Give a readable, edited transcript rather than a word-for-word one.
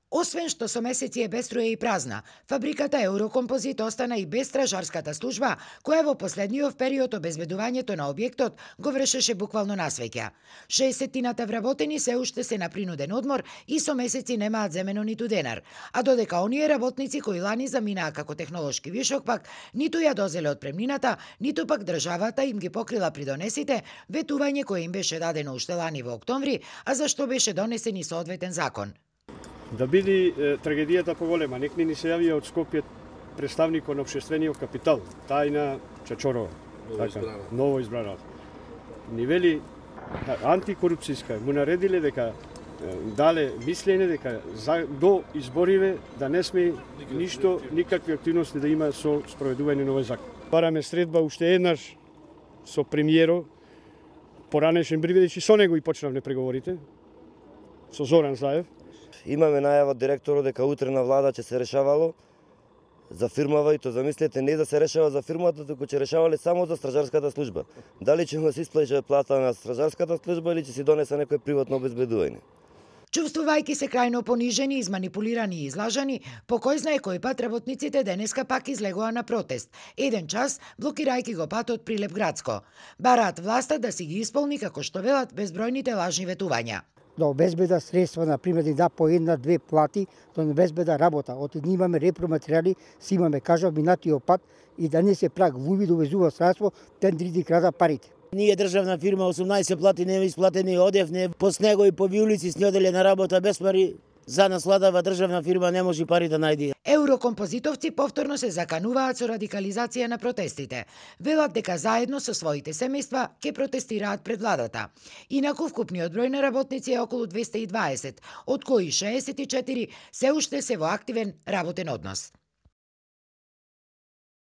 Освен што со месеци е без струја и празна, фабриката Еврокомпозит остана и без стражарската служба, која во последниот период обезбедувањето на објектот го вршеше буквално на свеќа. 60-тината вработени се уште се на принуден одмор и со месеци немаат земено ниту денар, а додека оние работници кои лани заминаа како технолошки вишок пак ниту ја дозеле отпремнината, ниту пак државата им ги покрила придонесите, ветување кое им беше дадено уште лани во октомври, а за што беше донесен и соодветен закон. Да биде трагедијата поголема, некни ни се јавија од Скопје представникот на општествениот капитал, Тајна Чачорова, ново избрана. Ни вели антикорупцијска, му наредиле дека дале мислење дека до избориве да не сме ништо, никакви активности да има со спроведување на овој закон. Бараме средба уште еднаш со премиерот, поранешен бидејќи со него и почнавме преговорите, со Зоран Заев. Имаме најава од директорот дека утре на влада ќе се решавало за фирмава и то замислете не да се решава за фирмата, туку ќе решавале само за стражарската служба. Дали ќе му се исплаќа плата на стражарската служба или ќе си донесе некој приватно обезбедување. Чувствувајќи се крајно понижени, изманипулирани и излажани, по кој знае кој пат работниците денеска пак излегоа на протест. Еден час, блокирајќи го патот Прилеп Градско. Бараат власта да си ги исполни, како што велат, безбројните лажни ветувања. Да обезбеда средства, например, да по една-две плати, да обезбеда работа. Оти ние имаме репроматеријали, си имаме, кажав, минатиот пат и да не се прак вуви довезува средство, тендри крада парите. Ние државна фирма 18 плати не исплатени, одевне по снего и по виулици снеделе на работа без пари. За насладава државна фирма не може пари да најде. Еврокомпозитовци повторно се закануваат со радикализација на протестите. Велат дека заедно со своите семејства ќе протестираат пред владата. Инаку вкупниот број на работници е околу 220, од кои 64 се уште се во активен работен однос.